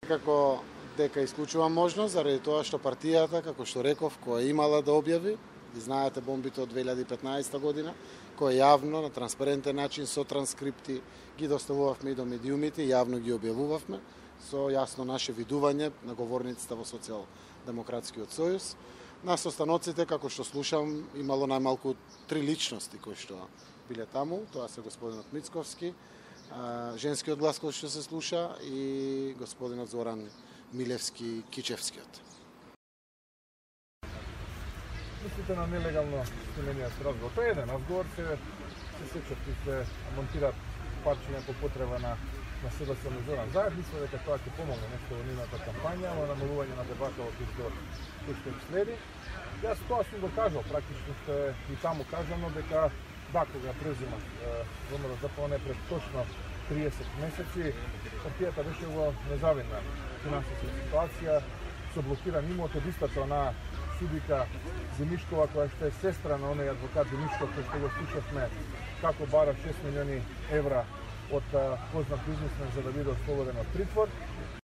Секако дека исклучува можност заради тоа што партијата, како што реков, која имала да објави, ви знаете бомбите од 2015 година, која јавно на транспарентен начин со транскрипти ги доставувавме и до медиумите, јавно ги објавувавме со јасно наше видување на говорниците во Социјалдемократскиот сојуз. На состаноците, како што слушам, имало најмалку 3 личности кои што биле таму, тоа се господинот Мицковски, женскиот глас кој што се слуша и господинот Зоран Милевски Кичевскиот. Мислите на нелегално снимениот разговор? Тоа е еден разговор, се сечат и се монтираат парчиња по потреба на СДС на Зоран Заев. Мислам дека тоа ќе помогне нешто во нивната кампања, во намалување на дебата во кој што им следи. Јас тоа сум го кажал, практично што е и таму кажано дека да, кога презимат ВМРО-ДПМНЕ пред точно 30 месеци, партијата беше во незавидна финансиска ситуација, со блокиран имот од истата на судика Зимишкова, која што е сестра на оној адвокат Зимишков, кој што го слушавме како бара 6 милиони евра од познат бизнесмен за да биде ослободен од притвор.